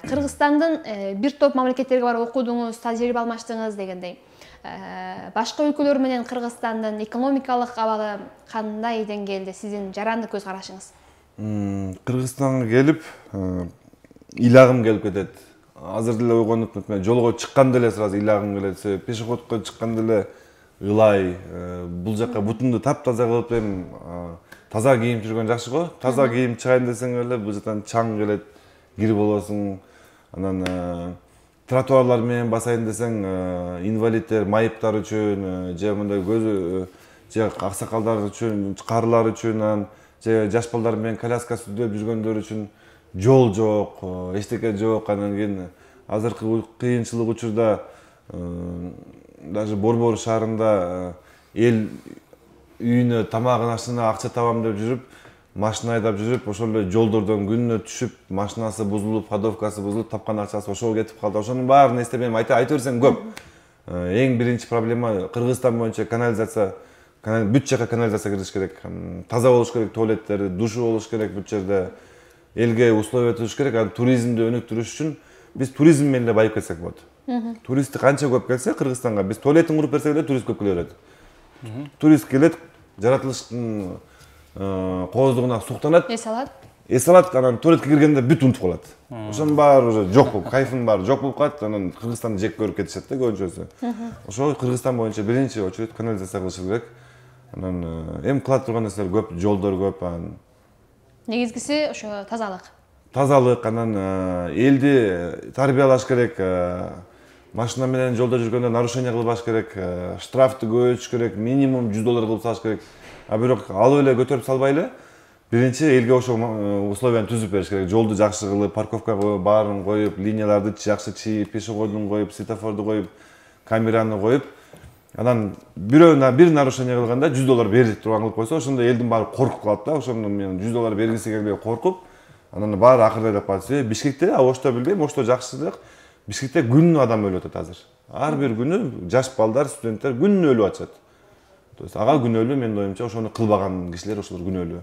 Кыргызстандын бир топ мамлекеттерге барып окудуңуз, тажрыйба алмаштыңыз дегендей. Башка өлкөлөр менен Кыргызстандын экономикалык абалы кандай деңгээлде, сиздин жарандык көз карашыңыз? Кыргызстанга келип, ыйлагым келип кетет. Азыр деле ойгонуп, жолго чыкканда эле сразу ыйлагым келет. Пешеходко чыкканда эле ылай, бул жака бутумду таптаза кылып эми таза кийим жүргөн жакшы го. Таза кийим чыгайын десең эле бул жактан чаң келет, кир болосуң. Анан тротуарлар менен басайын десең, инвалидтер, майыптар үчүн, же мындай көзү же аксакалдар үчүн, карылар үчүн, же жаш балдар менен коляска сүздөп жүргөндөр үчүн жол жок, эчтеке жок. Анан кийин азыркы кыйынчылык учурда даже Борбор шаарында эл үйүнө тамагын ашына акча табам деп жүрүп, машина айдап жүрүп, ошол эле жолдордон күнүнө түшүп, машинасы бузулуп, ходовкасы бузулуп, тапкан акчасы ошого кетип калды. Ошонун баарын эстеп эми айта берсең көп. Эң биринчи проблема Кыргызстан боюнча канализация, бүт жака канализация кириш керек. Таза болуш керек туалеттери, душу болуш керек бүт жерде. Элге условия түзүш керек. Анан туризмди өнүктүрүш үчүн биз туризм менен эле байып кетсек болот. Туристти канча көп келсе Кыргызстанга, биз туалетин куруп берсек эле турист көп келе берет. Турист келет, жаратылыштын кооздугуна суктанат. Эс алат, анан туалетке киргенде бүт унутуп калат. Ошонун баары уже жок болуп, кайфынын баары жок болуп калат. Анан Кыргызстанды жек көрүп кетишет да көбүнчөсү. Ошо Кыргызстан боюнча биринчи очередь канализация кылышы керек. Анан эми кыла турган нерселер көп, жолдор көп. Негизгиси ошо тазалык. Тазалык, анан элди тарбиялаш керек. Машина менен жолдо жүргөндө нарушение кылбаш керек, штрафты көбөйтүш керек, минимум $100 кылып салыш керек. Бирок алып эле көтөрүп салбай эле биринчи элге ошо условияны түзүп бериш керек. Жолду жакшы кылып, парковкага баарын коюп, линияларды жакшы чийип, пешеходун коюп, светофорду коюп, камераны коюп, анан бир нарушение кылганда $100 берип турган кылып койсо, ошондо элдин баары коркуп калат да. Ошондо мен $100 бергиси келбей коркуп, анан баары акырдайлап калат. Бишкекте, Ошто билбейм, Ошто жакшыраак. Бишкекте күнүнө адам өлүп атат азыр. Ар бир күнү жаш балдар, студенттер күнүнө өлүп атышат. То есть ага күнөөлүү, менин оюмча, ошону кылбаган кишилер ошолор күнөөлүү.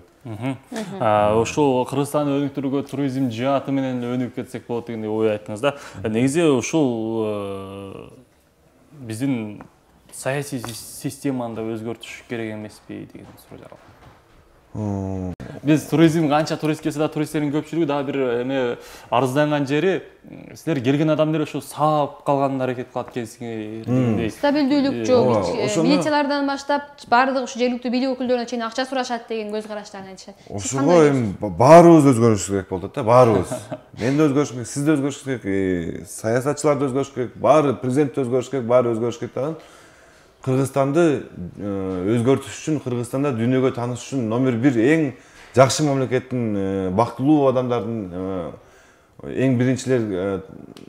Ушул Кыргызстанды өнүктүрүүгө туризм жааты менен өнүгүп кетсек болот дегендей ой айттыңыз да. Негизи ушул биздин саясий системаны да өзгөртүш керек эмеспи деген суроо жаралды. Биз туризм канча турист келсе да туристтердин көпчүлүгү дагы бир эме арызданган жери силер келген адамдар ушу саап калганына аракет кылат экенсиңер. Стабилдүүлүк жок. Милициялардан баштап баардык ушу жергиликтүү бийлик өкүлдөрүнө чейин акча сурашат деген көз караштарын айтышат. Ошого эми баарыбыз өзгөрүш керек болот да, баарыбыз. Мен да өзгөрүш керек, сиз да өзгөрүш керек, саясатчылар да өзгөрүш керек, баары президент да өзгөрүш керек, баары өзгөрүш керек дагы. Кыргызстанды өзгөртүш үчүн, Кыргызстанда дүйнөгө тааныш үчүн номер 1 эң жакшы мамлекеттин, бактылуу адамдардын эң биринчилер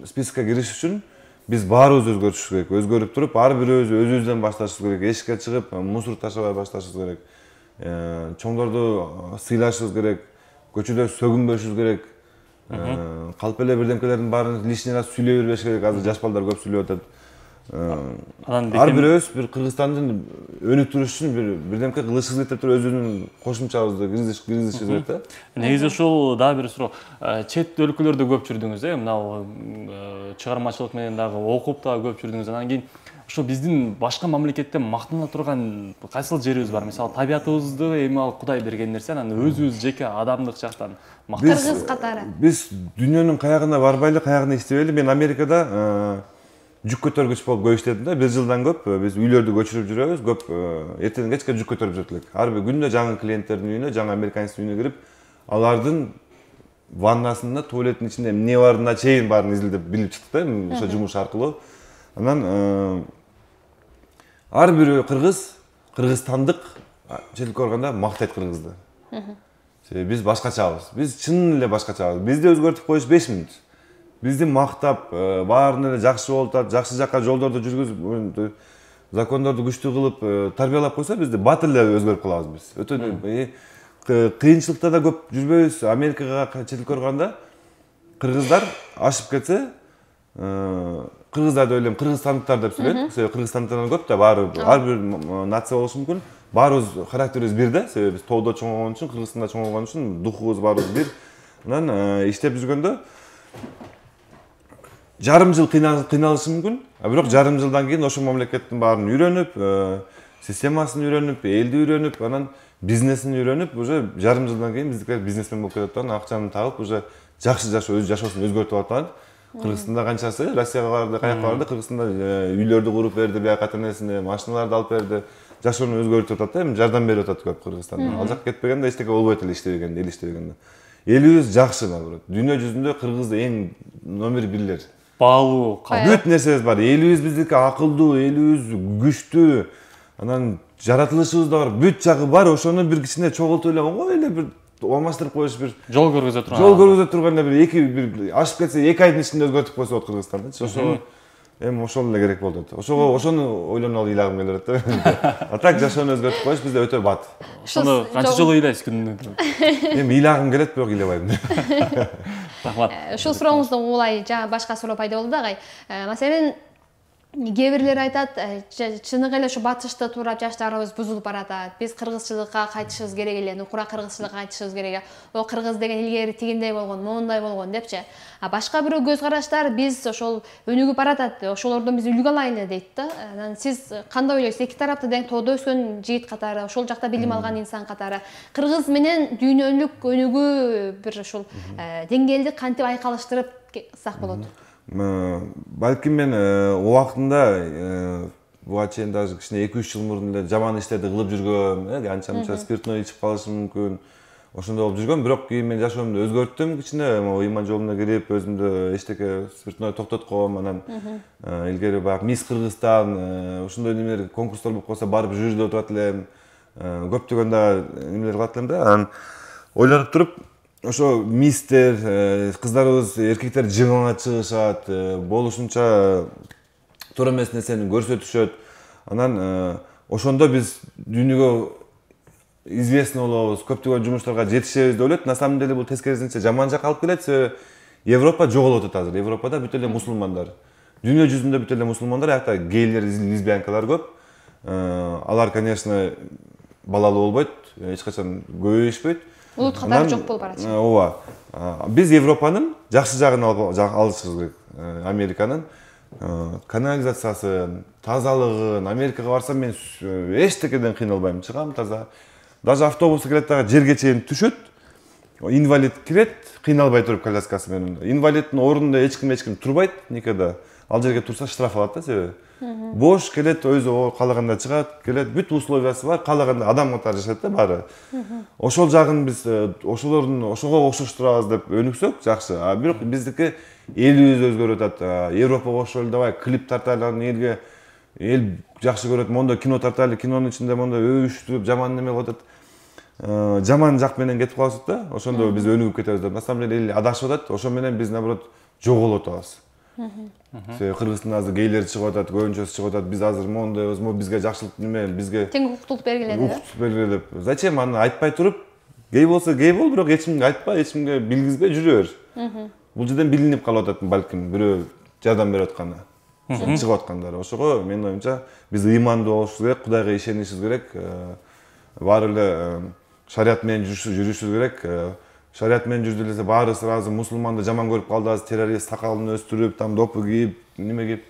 спискке кириш үчүн биз баарыбыз өзгөрүшүбүз керек. Өзгөрүп туруп, ар бирөөбүз өзүбүздөн башташыбыз керек. Эшикке чыгып, мусор ташабай башташыбыз керек. Чоңдорду сыйлашыбыз керек. Көчөдө сөгүнбөшүбүз керек. Калп эле бирдемкелердин баарын лишний раз сүйлөй бербеш керек. Азыр жаш балдар көп сүйлөп атат. Ар бирөөбүз бир Кыргызстандын өнүктүрүш үчүн бирдемке кылышыбыз кетип туруп өзүбүздүн кошумчабызды киргизишибиз керек да. Негизи ушул дагы бир суроо. Чет өлкөлөрдө көп жүрдүңүз, мына чыгармачылык менен дагы окуп дагы көп жүрдүңүз. Анан кийин ошо биздин башка мамлекетте мактана турган кайсыл жерибиз бар? Мисалы, табиятыбызды эми ал Кудай берген нерсе, анан өзүбүз жеке адамдык жактан кыргыз катары. Биз дүйнөнүн каягына барбайлы, каягына иштебейли. Мен Америкада жүк көтөргүч болуп көп иштедим да. 1 жылдан көп биз үйлөрдү көчүрүп жүрөбүз. Көп эртеден кечке жүк көтөрүп жүрөт элек. Ар бир күндө жаңы клиенттердин үйүнө, жаңы американецтин үйүнө кирип, алардын ваннасында, туалеттин ичинде эмне барына чейин баарын изилдеп билип чыктык да, ошо жумуш аркылуу. Анан ар бир кыргызстандык четке барганда мактайт кыргызды. Биз башкачабыз. Биз чын эле башкачабыз. Бизди өзгөртүп коюш 5 мүнөт. Бизди мактап, баарын эле жакшы болуп атат, жакшы жакка жолдорду жүргүзүп, закондорду күчтүү кылып тарбиялап койсо, бизди бат эле өзгөрүп калабыз биз. Өтө кыйынчылыкта да көп жүрбөйбүз. Америкага четке барганда кыргыздар ашып кетсе, кыргыздар деп элем, кыргызстандыктар деп сүйлөйт. Себеби кыргызстандыктардан көп да, баары ар бир нация болушу мүмкүн. Баарыбыз характерибиз бир да, себеби биз тоодо чоңойгон үчүн, Кыргызстанда чоңойгон үчүн духубуз баарыбыз бир. Анан иштеп жүргөндө жарым жыл кыйналышы мүмкүн, бирок жарым жылдан кийин ошол мамлекеттин баарын үйрөнүп, системасын үйрөнүп, элди үйрөнүп, анан бизнесин үйрөнүп, уже жарым жылдан кийин биздикилер бизнесмен болуп кетип атат, акчаны таап, уже жакшы жашоо, өз жашоосун өзгөртүп атат. Кыргызстанда канчасы Россияга барды, каякка барды, Кыргызстанда үйлөрдү куруп берди, бияка ата-энесине машиналарды алып берди, жашоону өзгөртүп атат да, эми жардам берип атат көп Кыргызстанда. Ал жакка кетпегенде эчтеке болбойт эле иштебегенде, эл иштебегенде. Элибиз жакшы наоборот. Дүйнө жүзүндө кыргыз эң номер 1-лер. Баалуу, бүт нерсебиз бар. Элибиз биздики акылдуу, элибиз күчтүү. Анан жаратылышыбыз да бар, бүт жагы бар. Ошону бир кичине чогултуп эле оңой эле бир алмаштырып коюш, бир жол көргөзө турган. Жол көргөзө турганда бир ашып кетсе 2 айдын ичинде өзгөртүп койсо болот Кыргызстандычы. Ошо эми ошол эле керек болот. Ошону ойлонолу ыйлагым келип атат да. А так жашоону өзгөртүп коюш бизде өтө бат. Ошону канча жолу ыйлайсыз күнүнө? Эми ыйлагым келет, бирок ыйлабайм. Рахмат. Ушул сурооңузду улай жаңы башка суроо пайда болду дагы. Маселен, кээ бирлер айтат, чыныгы эле ушу батышты туурап жаштарыбыз бузулуп баратат. Биз кыргызчылыкка кайтышыбыз керек эле, нукура кыргызчылыкка кайтышыбыз керек. О кыргыз деген илгери тигиндей болгон, моундай болгон депчи. А башка бирөө көз караштар биз ошол өнүгүп баратат, ошолордон биз үлгү алайлы дейт да. Анан сиз кандай ойлойсуз? Эки тарапты тең тоодо өскөн жигит катары, ошол жакта билим алган инсан катары кыргыз менен дүйнөлүк өнүгүү бир ушул деңгээлди кантип айкалыштырып сак болот? Балким мен убактында буга чейин даже кичине 2-3 жыл мурун эле жаман иштерди кылып жүргөм, анча-мынча спиртной ичип калышым мүмкүн. Ошондой болуп жүргөм, бирок кийин мен жашоомду өзгөрттүм кичине, ыйман жолуна кирип, өзүмдү эчтеке спиртной токтотком, анан илгери баягы Мисс Кыргызстан, ошондой немелер конкурстор болуп калса барып жюридө отурат элем, көптөгөн дагы немелер кылат элем да. Анан ойлонуп туруп, ошо мистер, кыздарыбыз, эркектер жыгыңа чыгышат, болушунча туура эмес нерсени көрсөтүшөт. Анан ошондо биз дүйнөгө известный болобуз, көптөгөн жумуштарга жетишебиз деп ойлойт. На самом деле бул тескерисинче жаман жакка алып келет. Себеби Европа жоголуп атат азыр. Европада бүт эле мусулмандар. Дүйнө жүзүндө бүт эле мусулмандар, аякта гейлер, лесбиянкалар көп. Алар, конечно, балалуу болбойт, эч качан көбөйүшпөйт. Улут катары жок болуп барат. Ооба. Биз Европанын жакшы жагын алышыбыз керек. Американын канализациясын, тазалыгын. Америкага барсам мен эчтекеден кыйналбайм, чыгам таза. даже автобус келет дагы жерге чейин түшөт. Инвалид кирет, кыйналбай туруп коляскасы менен. Инвалиддин ордунда эч ким турбайт никада. Ал жерге турса штраф алат да себеби. Бош келет, өзү каалаганда чыгат, келет, бүт условиясы бар, каалаганда адам катары жашайт да баары. Ошол жагын биз ошого окшоштурабыз деп өнүксөк жакшы. А бирок биздики элибиз өзгөрүп атат. Европага ошол давай клип тартайлы, элге эл жакшы көрөт, мондо кино тартайлы, кинонун ичинде мондо өбүштүрүп, жаман неме кылып атат. Жаман жак менен кетип калабыз да. Ошондо биз өнүгүп кетебиз деп. На самом деле эл адашып атат. Ошо менен биз наоборот жоголуп атабыз. Кыргызстанда азыр гейлер чыгып атат, көбүнчөсү чыгып атат. Биз азыр мондойбуз, бизге жакшылык неме, бизге тең укуктуулук бергиле деп. Зачем аны айтпай туруп, гей болсо гей бол, бирок эч кимге айтпа, эч кимге билгизбей жүрө бер. Бул жерден билинип калып атат балким, бирөө жардам берип атканы. Чыгып аткандары. Ошого менин оюмча биз ыймандуу болушубуз керек, Кудайга ишенишибиз керек. Баары эле шарият менен жүрүшүбүз керек. Шарият менен жүрдү эле баары сразу мусулманды жаман көрүп калды, азыр террорист, сакалын өстүрүп, там допу кийип, неме кийип.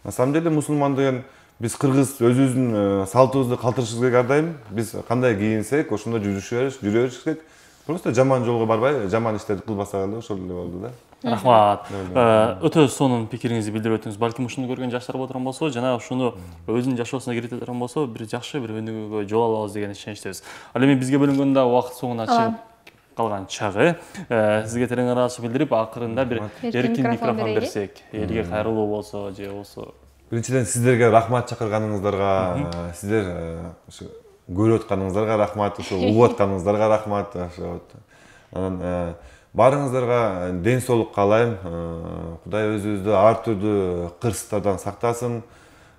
На самом деле мусулман деген биз кыргыз өзүбүздүн салтыбызды калтырышыбыз керек ар дайым. Биз кандай кийинсек, ошондой жүрө бериш керек. Просто жаман жолго барбай, жаман иштерди кылбасак эле ошол эле болду да. Рахмат. Өтө сонун пикириңизди билдирип өттүңүз. Балким ушуну көргөн жаштар отурган болсо, жана ушуну өзүнүн жашоосуна киргизе турган болсо, бир жакшы бир өнүгүүгө жол алабыз деген ишеничтебиз. Ал эми бизге бөлүнгөн да убакыт соңуна чыгып калган чагы. Сизге терең ыраазычылык билдирип, акырында бир эркин микрофон берсек, элге кайрылуу болсо же болсо. Биринчиден сиздерге рахмат чакырганыңыздарга, сиздер ушу көрүп атканыңыздарга рахмат, ушу угуп атканыңыздарга рахмат. Анан баарыңыздарга ден соолук каалайм. Кудай өзүбүздү ар түрдүү кырсыктардан сактасын.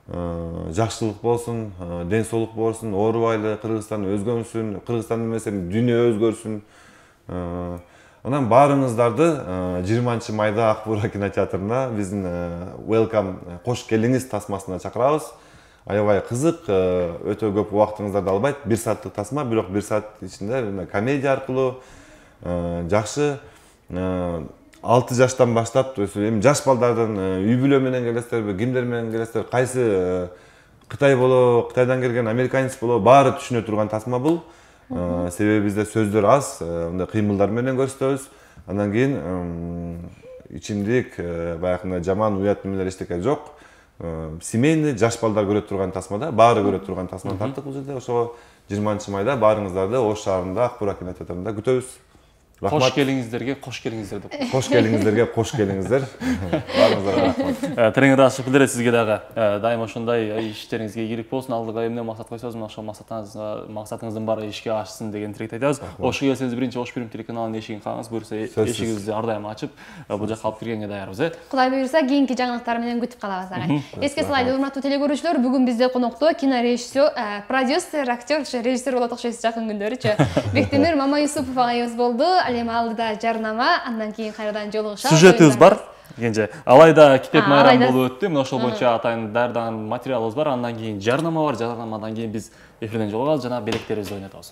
Жакшылык болсун, ден соолук болсун, оорубайлы, Кыргызстан өзгөрсүн, Кыргызстан эмес, дүйнө өзгөрсүн. Анан баарыңыздарды 20-майда Ак Бура кинотеатрына биздин Welcome кош келиңиз тасмасына чакырабыз. Аябай кызык, өтө көп убактыңыздарды албайт. 1 сааттык тасма, бирок 1 саат ичинде комедия аркылуу жакшы 6 жаштан баштап, эми жаш балдардан үй бүлө менен келесиздерби, кимдер менен келесиздер, кайсы Кытай болобу, Кытайдан келген американец болобу, баары түшүнө турган тасма бул. Себеби бизде сөздөр аз, мындай кыймылдар менен көрсөтөбүз. Андан кийин ичимдик, баягындай жаман уят немелер эчтеке жок. Семейный жаш балдар көрө турган тасмада, баары көрө турган тасманы тарттык бул жерде. Ошого 20-майда баарыңыздарды Ош шаарында Ак Бура кинотеатрында күтөбүз. Кош келиңиздерге, кош келиңиздер деп. Кош келиңиздерге, кош келиңиздер. Баарыңыздарга рахмат. Терең ыраазычылык билдирет сизге дагы. Дайым ошондой иштериңизге ийгилик болсун. Алдыга эмне максат койсоңуз, ошол максатыңыздын баары ишке ашсын деген тилекти айтабыз. Ошко келсеңиз биринчи Ош Фильм телеканалынын эшигин кагыңыз, буюрса эшигибизди ар дайым ачып, бул жакка алып киргенге даярбыз. Кудай буюрса, кийинки жаңылыктар менен күтүп калабыз агай. Эске салайлы, урматтуу телекөрүүчүлөр, бүгүн бизде конокто кинорежиссер, продюсер, актер, режиссер болот окшойсуз жакын күндөрүчү. Бектемир Мамаюсупов агайыбыз болду. Ал эми алдыда жарнама, андан кийин кайрадан жолугушабыз. Сюжетибиз бар. Кенже алайда китеп майрам болуп өттү. Мына ошол боюнча атайын даярдаган материалыбыз бар. Андан кийин жарнама бар. Жарнамадан кийин биз эфирден жолугабыз жана белектерибизди ойнотобуз.